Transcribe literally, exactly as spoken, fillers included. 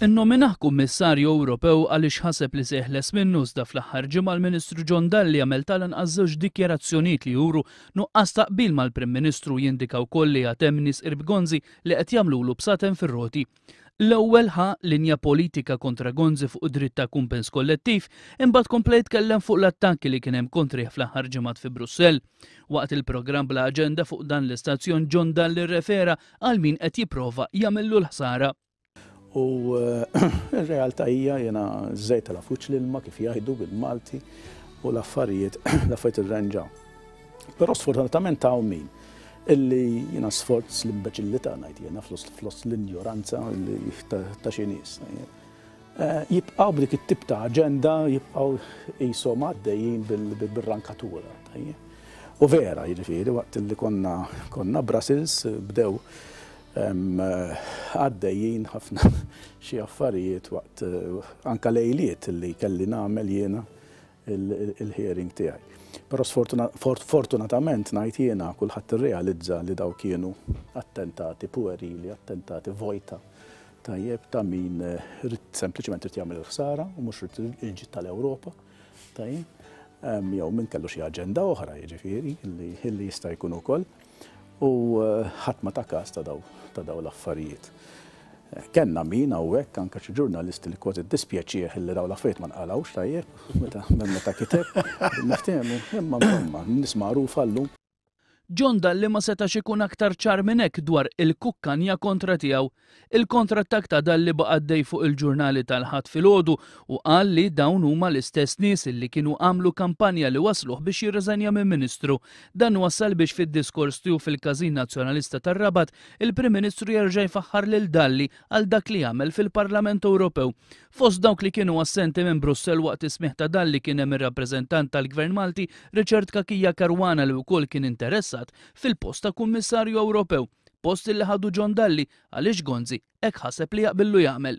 Innominah Kummissarju Ewropew għaliex ħaseb li se jeħles minnu, iżda fl-aħħar ġimgħa l-Ministru John Dalli għamel tal-anqas żewġ dikjarazzjonijiet li juru nuqqas ta' qbil mal-Prim Ministru, jindika wkoll li għad hemm nies qrib Gonzi li qed jagħmlulu bsaten fir-roti. L-ewwel ħa linja politika kontra Gonzi fuq id-dritt ta' kumpens kollettiv, imbagħad kompla jitkellem fuq l-attakki li kien hemm kontrih fl-aħħar ġimgħat fi Brussell. Waqt il-programm Bla Aġenda fuq dan l-istazzjon, John Dalli rrefera għal min qed jipprova jagħmillu l-ħsara. U r-realtà hija, jiena żejt tal-afuċ l-ilma, kif jgħidu bil-Malti, u l-affarijiet l-affarijiet irranġaw. Però sfortunatament hawn min illi jiena sforz l-imbeċillità, ngħid jiena, flus flus l-injoranza ta' xi nies. Jibqgħu b'dik it-tip ta' aġenda, jibqgħu qishom għaddejjin bil-rankatura. U vera, jiġifieri, waqt li konna konna Brussels bdew għaddejjin ħafna xi affarijiet waqt anka lejliet li kelli nagħmel jiena il-hearing tiegħi. Però fortunatament, ngħid jiena, kulħadd irrealizza li daw kienu attentati puerili, attentati vojta, tajjeb, ta' min ried sempliċement irid jagħmel il-ħsara u mhux irid il-ġid tal-Ewropa. Tajjeb. Jew min kellu xi aġenda oħra, jiġifieri, li jista' jkun ukoll. U ħadd ma ta każ ta' daw ta' daw l-affarijiet. Kenna min hawnhekk, anke xi ġurnalisti, li kważi dispjaċih li daw l-affarijiet ma nqalawx, tajjeb, meta meta kiteb, niftehmu, imma insomma, nies magħrufa llum. John Dalli ma setax ikun aktar ċar minn hekk dwar il-kukkanja kontra tiegħu. Il kontrattak ta' Dalli baqa' għaddej fuq il-ġurnali tal-Ħadd filgħodu u qal li dawn huma l-istess nies li kienu għamlu kampanja li wasluh biex jirreżenja minn Ministru. Dan wassal biex fid-diskors tiegħu fil-Każin Nazzjonalista tar-Rabat, il-Prim Ministru jerġa' jfaħħar lil Dalli għal dak li għamel fil-Parlament Ewropew. Fost dawk li kienu assenti minn Brussell waqt is-smigħ ta' Dalli kien hemm ir-rappreżentant tal-Gvern Malti Richard Cachia Caruana, li wkoll kien interessat fil-post ta' Kummissarju Ewropew, post li ħadu John Dalli għaliex Gonzi hekk ħaseb li jaqbillu jagħmel.